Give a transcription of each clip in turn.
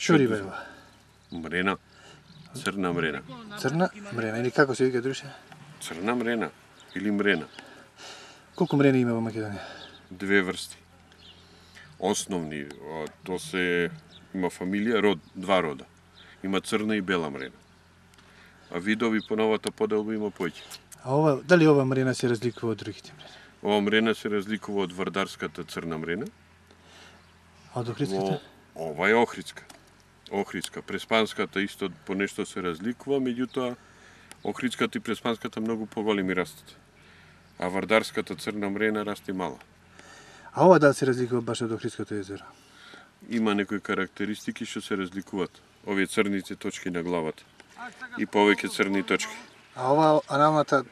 Што риба е ова? Мрена. Црна мрена. Црна мрена или како се вика друше? Црна мрена или мрена. Колку мрени има во Македонија? Две врсти. Основни, то се има фамилија, род, два рода. Има црна и бела мрена. А видови по новата поделба има поќе. А ова, дали ова мрена се разликува од другите мрени? Ова мрена се разликува од вардарската црна мрена. А од охридската? Ова е охридска. Охридска. Преспанската исто по нешто се разликува, меѓутоа охридската и преспанската многу поголеми растат. А вардарската црна мрена расте мала. А ова дали се разликува баш од Охридското езеро? Има некои карактеристики што се разликуваат. Овие црните точки на главата. И повеќе црни точки. А ова аналната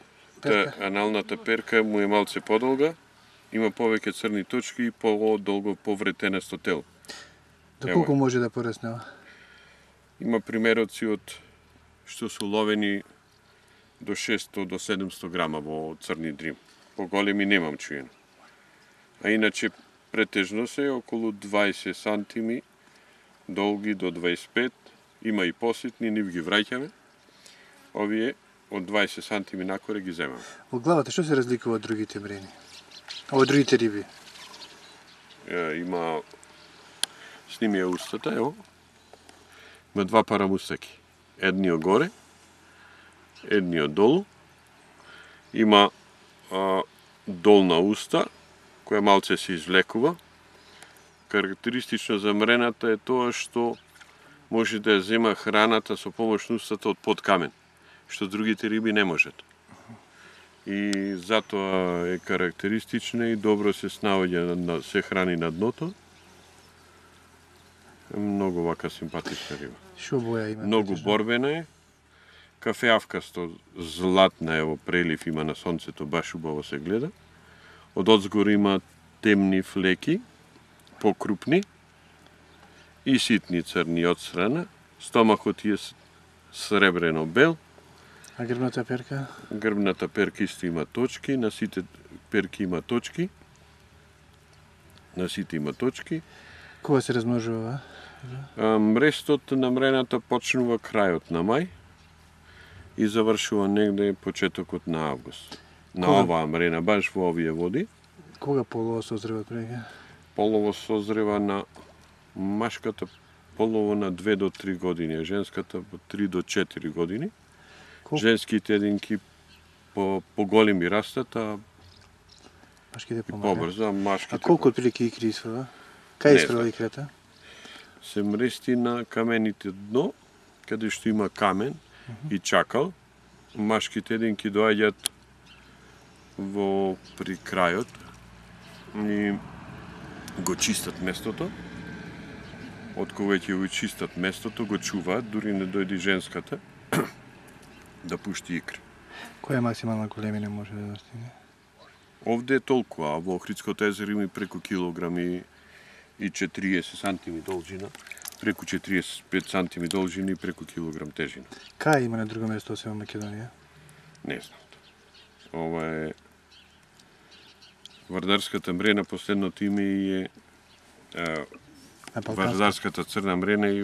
перка? Аналната перка му е малце подолга, има повеќе црни точки и подолго повретенесто тело. Доколку може да порасне ова? Има примероци од што се ловени до 600 до 700 грама во црни дрим. Поголеми немам чуено. А иначе претежно се околу 20 сантими, долги до 25, има и поситни, нив ги враќаме. Овие од 20 сантими накоре ги земаме. Во главата што се разликува од другите мрени? Од другите риби? Има снимија устата, ево. Има два пара мустаки. Едниот горе, едниот долу. Има долна уста, која малце се извлекува. Карактеристично за мрената е тоа што може да ја зема храната со помош на устата од под камен, што другите риби не можат. И затоа е карактеристична и добро се снаоѓа, се храни на дното. Многу вака симпатична риба. Што боја има? Многу борбена е. Кафеавкасто, златна е во прелив, има на сонцето, баш убаво се гледа. Од одзгор има темни флеки, покрупни и ситни црни од страна. Стомахот е сребрено бел. А грбната перка? Грбната перка исто има точки, на сите перки има точки. На сите има точки. Кога се размножува? Мрестот на мрената почнува крајот на мај и завршува негде почетокот на август. На оваа мрена, баш во овие води. Кога полово созрева прега? Полово созрева на машката полово на 2 до 3 години, а женската по 3 до 4 години. Женските единки по-големи растат, а машките побрзо, машките. А колку отприлики икри исфрва? Кај исфрва икрата? Се мрести на камените дно, каде што има камен и чакал. Машките единки доаѓаат при крајот и го чистат местото. Од кога ќе го чистат местото, го чуваат, дури не дојде женската да пушти икри. Која максимална големина може да достигне? Овде е толку, а во Охридското езеро има преку килограми и 40 сантими должина, преку 45 сантими должина и преку килограм тежина. Кај има на друго место освен Македонија? Не знам. Ова е вардарската мрена, последното име е вардарската црна мрена и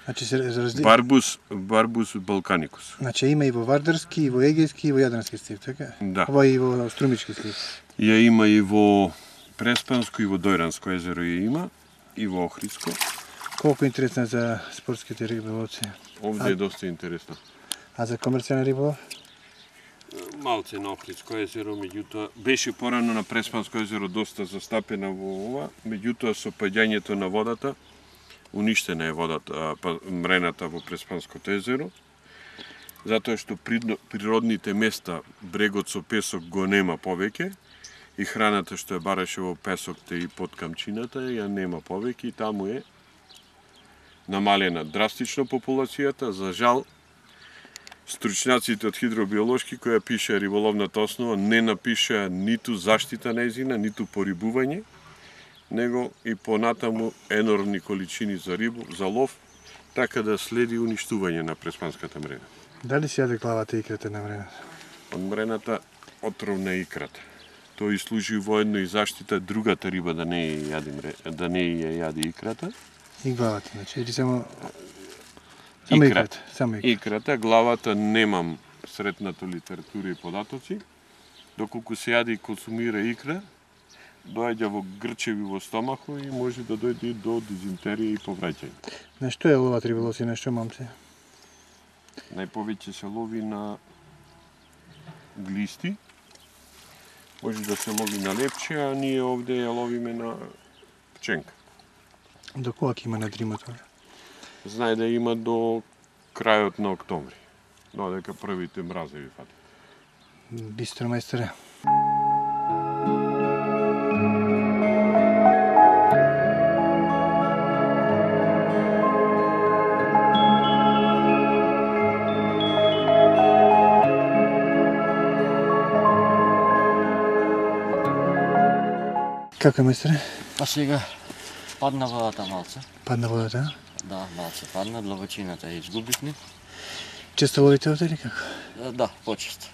значи се разлика. Барбус балканикус. Значи има и во вардарски, и во егејски, и во јадрански стив, така? Да. Ова и во струмички стив. Ја има и во Преспанско и во Дојранско езеро ја има, и во Охридско. Колку интересна за спортските риболовци? Овде е доста интересно. А за комерцијален риболов? Малце на Охридско езеро, меѓутоа беше порано на Преспанско езеро доста застапена во ова, меѓутоа со паѓањето на водата уништена е водата, мрената во Преспанското езеро, затоа што природните места, брегот со песок го нема повеќе и храната што ја бараше во песокте и под камчината ја нема повеќе и таму е намалена драстично популацијата. За жал, стручњаците од хидробиолошки која пише риболовната основа не напиша ниту заштита нејзина, ниту порибување, него и понатаму енормни количини за рибу, за лов, така да следи уништување на преспанската мрена. Дали се јаде главата и икрата на мрената? Од мрената отровна икрата. Тој служи воедно и заштита другата риба да не ја јади икрата. И главата, значи, или само Икрата. икрата. Само икрата. Икрата, главата немам сретнато литература и податоци. Доколку се јаде и консумира икра, доаѓа во грчеви во стомахо и може да дојде и до дизентерија и повраќање. На што е ловат риболовци, на што момци? Најповеќе се лови на глисти, може да се лови на лепче, а ние овде ја ловиме на пченка. До кога ќе има на дримот? Знае да има до крајот на октомври, додека првите мразеви фатат. Бистро, мајсторе. Како е, мајсторе? А сега падна водата малце. Падна водата? Да, малце падна, длабочината ја изгубивме. Често ловите овде или како? Да, почесто.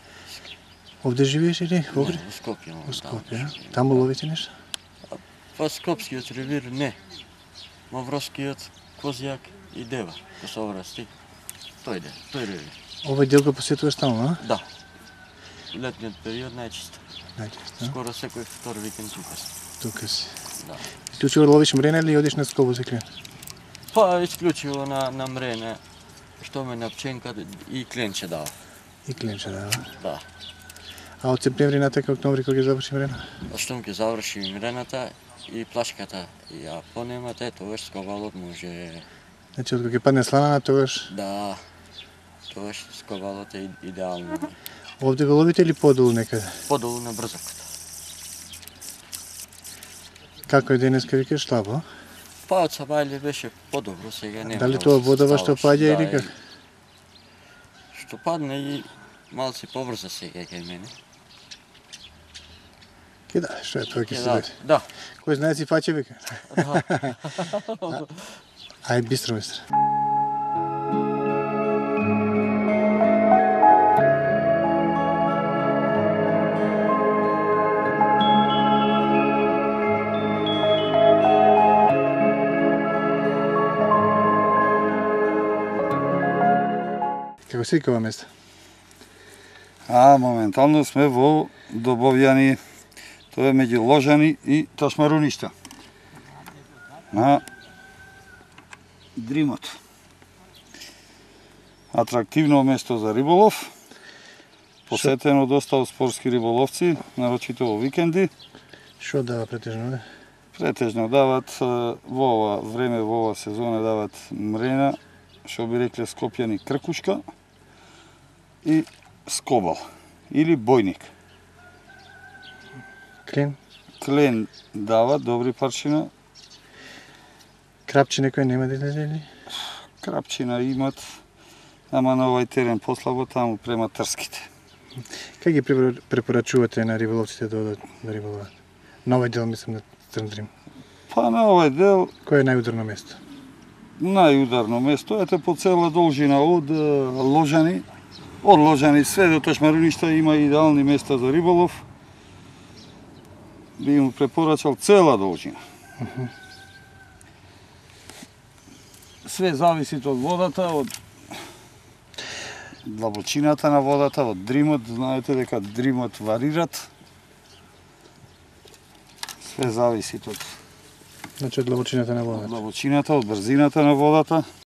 Овде живееш или во Огрид? Во Скопје. Во Скопје, а? Таму ловите нешто? Па Скопскиот ревир не. Мавровскиот, Козјак и Дева, Косоврасти. Тој ревир. Овој дел го посетуваш таму, а? Да. Летниот период најчесто. Најчесто, а? Скоро секој втор викенд тука си. Тука си. Да. Исклучиво ловиш мрена или одиш на скобу за клен? Па исклучиво на мрене, што ме на пченка и кленче дава. И кленче, да. Да. А од септември натака октомври кога ќе заврши мрена? Штом ќе заврши мрената и плашката, ја понемате, тогаш скобалот може... Значи, од кога ќе падне сланана, тогаш Да, тогаш скобалот е идеално. овде го ловите или подолу некаде? Подолу на брзокот. Како е денеска, викаш, слабо? Па од Сабајле беше подобро, сега нема. Дали тоа водова што паѓа или како? Што падне и малци поврза сега кај мене. Ке да, што е тоа ќе се Да, дојде. да. Кој знае си фаќа, вика. Да. Ај, бистро, мајстор. Како се вика ова место? Моментално сме во Добовјани, тоа е меѓу Ложани и Ташмаруништа. На Дримот. Атрактивно место за риболов, посетено доста од спортски риболовци, нарочито во викенди. Што дава претежно, да? Претежно дават во ова време, во ова сезона дават мрена, што би рекле скопјани кркушка и скобал или бојник. Клен? Клен дават добри парчина, Крапче некој нема да излезе или? крапчина имат, ама на овај терен послабо таму према трските. Как ги препорачувате на риболовците да одат да риболоват? На овој дел мислам на Црн Дрим. Па на овај дел Кој е најударно место? најударно место, ете по цела должина од Ложани све до Ташмаруништа има идеални места за риболов. Би му препорачал цела должина. Све зависи од водата, од длабочината на водата, од дримот. Знаете дека дримот варират. Све зависи од Значи од длабочината на водата. длабочината, од брзината на водата.